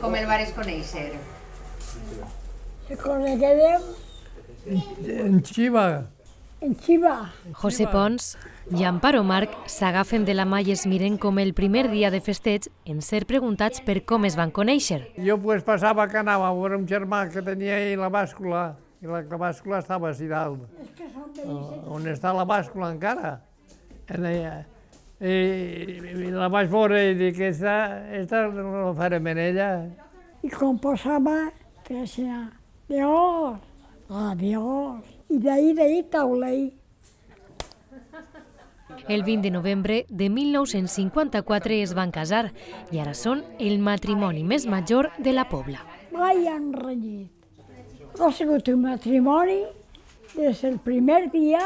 com el vares conèixer? El coneguérem En Xiva. en Xiva. José Pons i Amparo Marc s'agafen de la mà i es miren com el primer dia de festeig en ser preguntats per com es van conèixer. Jo pues, passava que anava a veure un germà que tenia ahí la bàscula, i la bàscula estava així dalt. On està la bàscula encara. I la vaig veure i dic, esta no la farem en ella. I quan passava, feia Dios, adiós. I d'ahir taulell. El 20 de novembre de 1954 es van casar i ara són el matrimoni més major de la Pobla. Mai han renyit. Ha sigut un matrimoni des del primer dia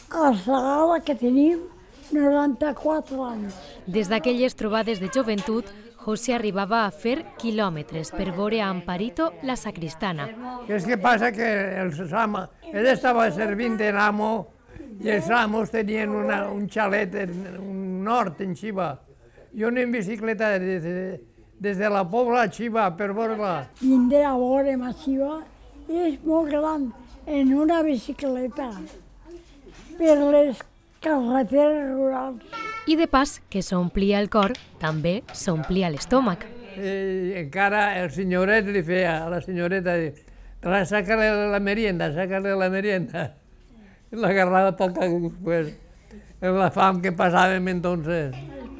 fins ara que tenim 94 anys. Des d'aquelles trobades de joventut, José arribava a fer quilòmetres per veure a Amparito, la sacristana. Què és que passa? Que ell estava servint en amo i els amos tenien un xalet en un nord, en Xiva. Jo anem en bicicleta des de la Pobla a Xiva per veure-la. Vindré a veure'm a Xiva i és molt gran en una bicicleta per les carreteres rurals. I de pas que s'omplia el cor, també s'omplia l'estómac. I encara el senyoret li feia a la senyoreta, saca-li la merienda, saca-li la merienda. I l'agarrava toca pues, la fam que passàvem entonces.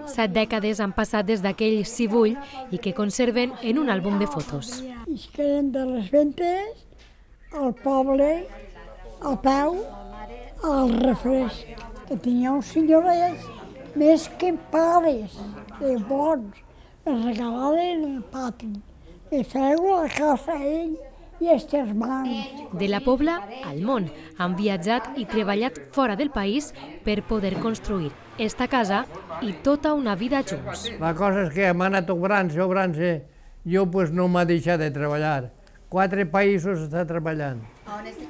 7 dècades han passat des d'aquell cibull i que conserven en un àlbum de fotos. I es quedem de les ventes al poble, a peu, al refresc, que tenia uns senyorets més que pares, de bons, es regalaven el pati, de feu a casa ell i els germans. De la Pobla al món han viatjat i treballat fora del país per poder construir esta casa i tota una vida junts. La cosa és que hem anat obrant-se, jo pues, no m'ha deixat de treballar. 4 països està treballant.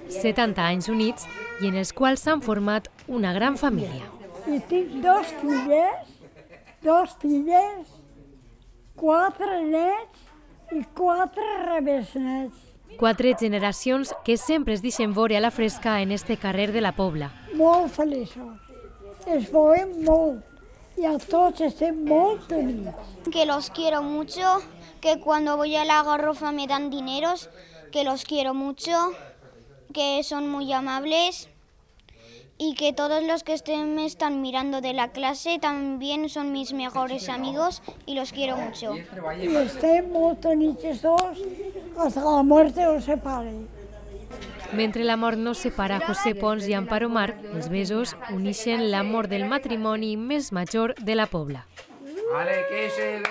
70 anys units i en els quals s'han format una gran família. I tinc 2 filles, 4 nets i 4 rebesnets. 4 generacions que sempre es deixen veure a la fresca en este carrer de la Pobla. Molt feliços. Es veuen molt i a tots estem molt units. Que los quiero mucho, que cuando voy a la Garrofa me dan dineros, que los quiero mucho, que son muy amables y que todos los que me están mirando de la clase también son mis mejores amigos y los quiero mucho. I estem molt units tots hasta la muerte os separe. Mentre la mort no separa José Pons i Amparo Marc, els besos unixen l'amor del matrimoni més major de la Pobla. Vale, que se